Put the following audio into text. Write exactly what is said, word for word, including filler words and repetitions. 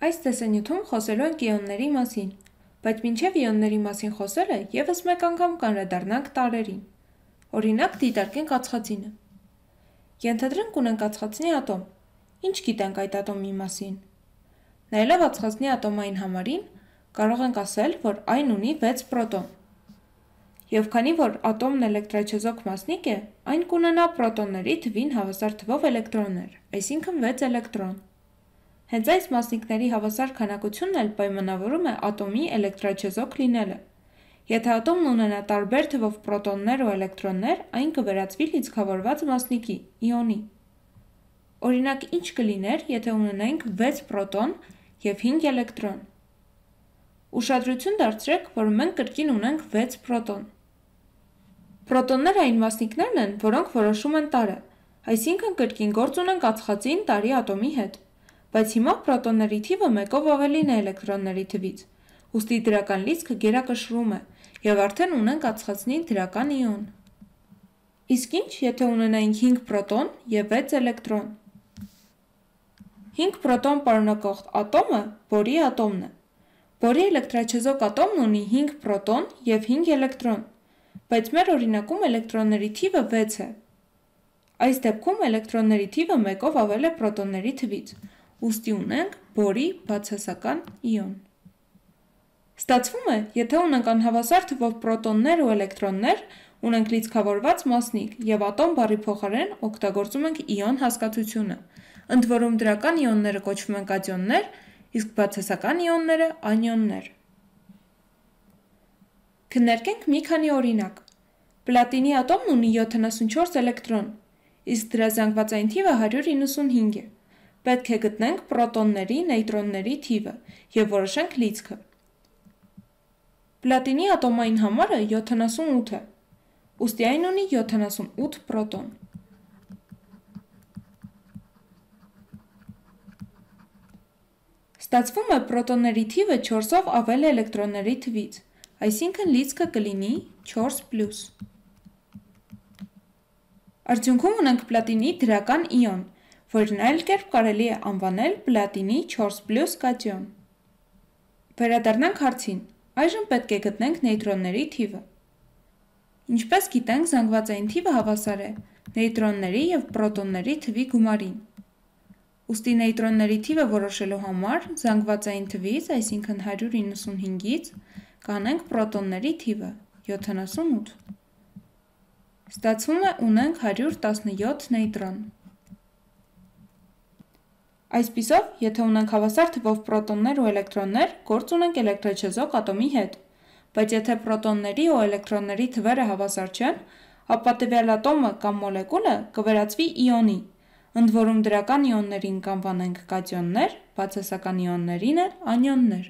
Այս տեսանյութում խոսելու ենք իոնների մասին, բայց մինչև իոնների մասին խոսելը ևս մեկ անգամ կանրադառնանք տարրերին։ Օրինակ դիտարկենք ածխածինը։ Ենթադրենք ունենք ածխածնի ատոմ։ Ինչ գիտենք այդ ատոմի մասին։ Նայելով ածխածնի ատոմային համարին, կարող ենք ասել, որ այն ունի վեց պրոտոն։ Եվ քանի որ ատոմն էլեկտրաչեզոք մասնիկ է, այն կունենա պրոտոնների թվին հավասար թվով էլեկտրոններ, այսինքն վեց էլեկտրոն։ Հենց այս մասնիկների հավասար քանակությունն էլ պայմանավորում է ատոմի էլեկտրաչեզոք լինելը։ Եթե ատոմն ունենա տարբեր թվով պրոտոններ ու էլեկտրոններ, այն կվերածվի լիցքավորված մասնիկի, իոնի։ Օրինակ, ինչ կլիներ, եթե ունենայինք վեց պրոտոն և հինգ էլեկտրոն։ Ուշադրություն դարձրեք, որ մենք կրկին ունենք վեց պրոտոն։ Պրոտոնները այն մասնիկներն են, որոնք որոշում են տարրը, այսինքն կրկին գործ ունենք ածխածին տարրի ատոմի հետ, բայց հիմա պրոտոնների թիվը մեկով ավելին է էլեկտրոնների թվից, ուստի դրական լիցքը գերակշռում է, և արդեն ունենք ածխածնի դրական իոն։ Իսկ ինչ, եթե ունենայինք հինգ պրոտոն և վեց էլեկտրոն։ հինգ պրոտոն պարունակող ատոմը բորի ատոմն է։ Բորի էլեկտրաչեզոք ատոմն ունի հինգ պրոտոն և հինգ էլեկտրոն, բայց մեր օրինակում էլեկտրոնների թիվը վեց է։ Այս դեպքում էլեկտրոնների թիվը մեկով ավել է պրոտոնների թվից, ուստի ունենք բորի բացասական իոն։ Ստացվում է, եթե ունենք անհավասար թվով պրոտոններ ու էլեկտրոններ, ունենք լիցքավորված մասնիկ և ատոմ բառի փոխարեն օգտագործում ենք իոն հասկացությունը, ընդ որում դրական իոնները կոչվում են կատիոններ, իսկ բացասական իոնները անիոններ։ Քննարկենք մի քանի օրինակ։ Պլատինի ատոմն ունի յոթանասունչորս էլեկտրոն, իսկ դրա զանգվածային թիվը հարյուր իննսունհինգ է։ Պետք է գտնենք պրոտոնների, նեյտրոնների թիվը և որոշենք լիցքը։ Պլատինի ատոմային համարը յոթանասունութ է, ուստի այն ունի յոթանասունութ պրոտոն։ Ստացվում է պրոտոնների թիվը չորսով ավել է էլեկտրոնների թվից, այսինքն լիցքը կլինի չորս պլյուս։ Արդյունքում ունենք պլատինի դրական իոն, որն այլ կերպ կարելի է անվանել պլատինի չորս պլյուս կատիոն։ Վերադառնանք հարցին, այժմ պետք է գտնենք նեյտրոնների թիվը։ Ինչպես գիտենք, զանգվածային թիվը հավասար է նեյտրոնների և պրոտոնների թվի գումարին։ Ուստի նեյտրոնների թիվը որոշելու համար զանգվածային թվից, այսինքն հարյուր իննսունհինգից, կանենք պրոտոնների թիվը յոթանասունութ։ Ստացվում է ունենք հարյուր տասնյոթ նեյտրոն։ Այսպիսով, եթե ունենք հավասար թվով պրոտոններ ու էլեկտրոններ, գործ ունենք էլեկտրաչեզոք ատոմի հետ, բայց եթե պրոտոնների ու էլեկտրոնների թվերը հավասար չեն, ապա տվյալ ատոմը կամ մոլեկուլը կվերածվի իոնի, ընդ որում դրական իոններին կանվանենք կատիոններ, բացասական իոններին էլ անիոններ։